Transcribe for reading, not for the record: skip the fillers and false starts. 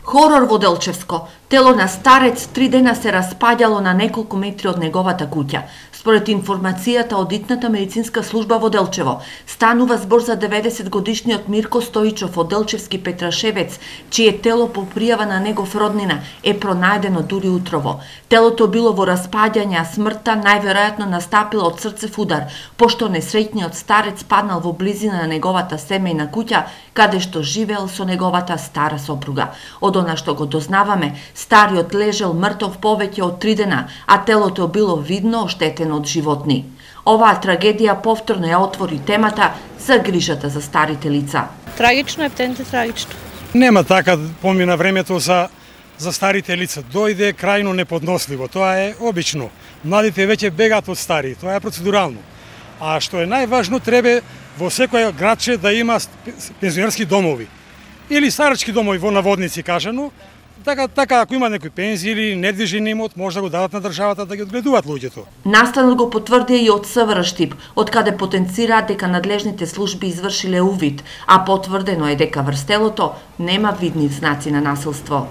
Хорор во Делчевско. Тело на старец 3 дена се распаѓало на неколку метри од неговата куќа. Според информацијата од итната медицинска служба во Делчево, станува збор за 90-годишниот Мирко Стоичов од Делчевски Петрашевец, чие тело по пријава на негов роднина е пронајдено дури утрово. Телото било во распаѓање, а смртта најверојатно настапила од срцев удар, пошто несреќниот старец паднал во близина на неговата семејна куќа, каде што живеел со неговата стара сопруга. Од она што го дознаваме, стариот лежел мртов повеќе од 3 дена, а телото било видно оштетено од животни. Оваа трагедија повторно ја отвори темата за грижата за старите лица. Трагично е, птенте трагично. Нема така помина времето за старите лица. Дојде крајно неподносливо. Тоа е обично. Младите веќе бегаат од стари. Тоа е процедурално. А што е најважно, треба во секој градче да има пензионерски домови или старачки домови во наводници кажано. Така ако има некој пензија или недвижен имот, може да го дадат на државата да ги одгледуваат луѓето. Настанот го потврдија и од СВР Штип, од каде потенцираат дека надлежните служби извршиле увид, а потврдено е дека врз телото нема видни знаци на насилство.